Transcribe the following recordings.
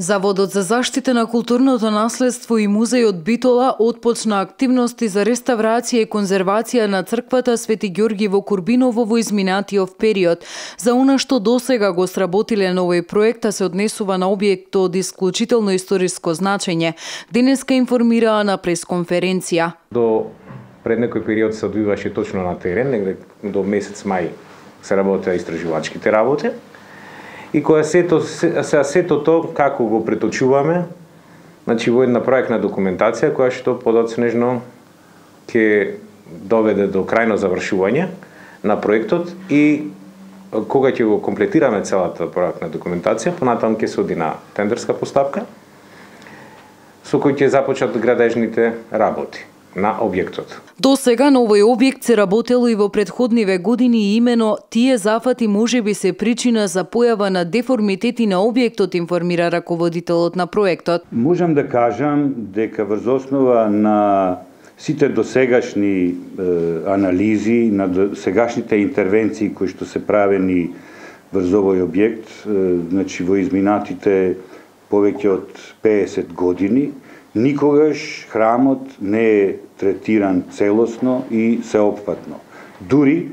Заводот за заштита на културното наследство и музејот Битола отпочна активности за реставрација и конзервација на црквата Свети Ѓорги во Курбиново во изминатиот период. За она што досега го сработиле на овој проект, се однесува на објект од исклучително историско значење. Денеска информираа на пресконференција. До пред некој период се одвиваше точно на терен, негде до месец мај се работеа истражувачките работи. И кога сето тоа како го преточуваме, значи во една проектна документација која што подоцнежно ќе доведе до крајно завршување на проектот и кога ќе го комплетираме целата проектна документација, понатаму ќе се оди на тендерска постапка со кој ќе започнат градежните работи на објектот. До сега на овој објект се работело и во претходниве години и именно тие зафати можеби се причина за појава на деформитети на објектот, информира раководителот на проектот. Можам да кажам дека врз основа на сите досегашни анализи, на сегашните интервенции кои што се правени врз овој објект, значи во изминатите повеќе од 50 години, никогаш храмот не е третиран целосно и сеопфатно. Дури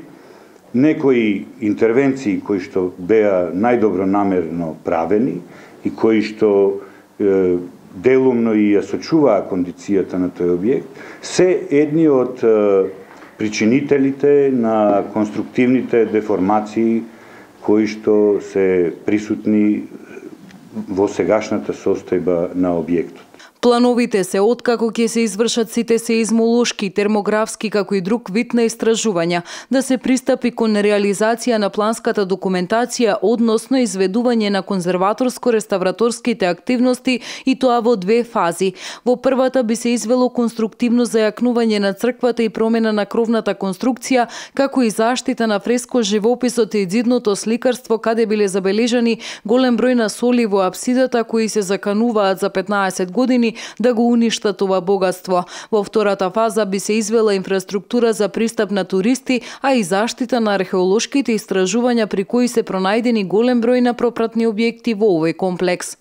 некои интервенции кои што беа најдобронамерно правени и кои што делумно и ја сочуваа кондицијата на тој објект, се едни од причинителите на конструктивните деформации кои што се присутни во сегашната состојба на објектот. Плановите се откако ќе се извршат сите сеизмолошки, термографски како и друг вид на истражувања, да се пристапи кон реализација на планската документација, односно изведување на конзерваторско-реставраторските активности и тоа во две фази. Во првата би се извело конструктивно зајакнување на црквата и промена на кровната конструкција, како и заштита на фреско живописот и ѕидното сликарство, каде биле забележани голем број на соли во апсидата кои се закануваат за 15 години да го уништат ова богатство. Во втората фаза би се извела инфраструктура за пристап на туристи, а и заштита на археолошките истражувања при кои се пронајдени голем број на пропратни објекти во овој комплекс.